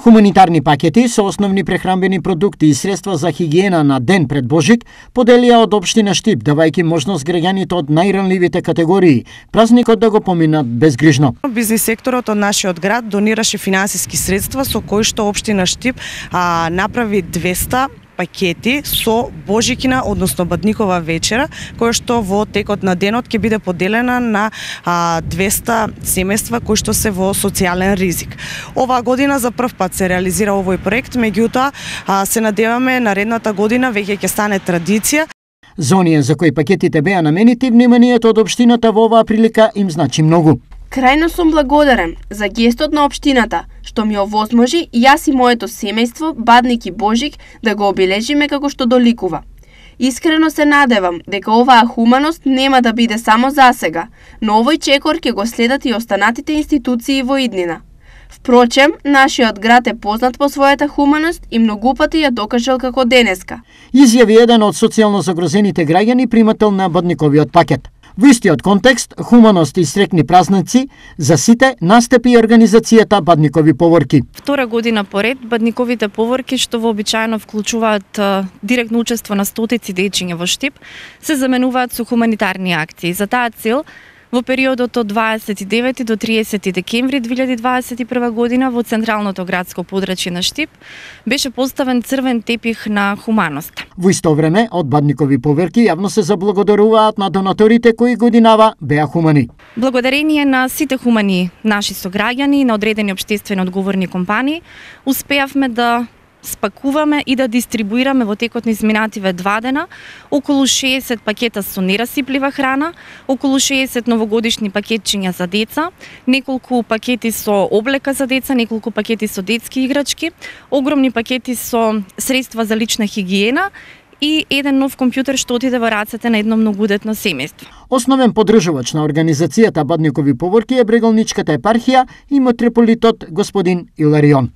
Хуманитарни пакети со основни прехранбени продукти и средства за хигиена на ден пред Божик поделија од општина Штип, давајќи можност граѓаните од најранливите категории празникот да го поминат безгрижно. Бизнис секторот од нашиот град донираше финансиски средства со кои што општина Штип направи 200 пакети со Божикина, односно Бадникова вечера, која што во текот на денот ќе биде поделена на 200 семејства кои што се во социјален ризик. Оваа година за прв пат се реализира овој проект, меѓутоа се надеваме наредната година веќе ќе стане традиција. За оние за кои пакетите беа наменети, вниманието од општината во оваа прилика им значи многу. Крајно сум благодарен за гестот на општината, што ми овозможи јас и моето семејство, Бадник и Божик, да го обележиме како што доликува. Искрено се надевам дека оваа хуманост нема да биде само за сега, но овој чекор ќе го следат и останатите институции во иднина. Впрочем, нашиот град е познат по својата хуманост и многу пати ја докажал како денеска. Изјави еден од социјално загрозените граѓани, примател на Бадниковиот пакет. Во истиот контекст, хуманост и среќни празници за сите настапи и организацијата Бадникови поворки. Втора година поред, Бадниковите поворки, што вообичаено вклучуваат директно учество на стотици дечиња во Штип, се заменуваат со хуманитарни акции. За таа цел, во периодот од 29 до 30 декември 2021 година во централното градско подрачје на Штип беше поставен црвен тепих на хуманост. Во исто време, од Бадникови поверки јавно се заблагодаруваат на донаторите кои годинава беа хумани. Благодарение на сите хумани наши сограѓани и на одредени општествено одговорни компании, успеавме да спакуваме и да дистрибуираме во текот на изминативе 2 дена околу 60 пакета со нерасиплива храна, околу 60 новогодишни пакетчиња за деца, неколку пакети со облека за деца, неколку пакети со детски играчки, огромни пакети со средства за лична хигиена и еден нов компјутер што отиде во рацете на едно многудетно семејство. Основен поддржувач на организацијата Бадникови поворки е Брегалничката епархија и митрополитот господин Иларион.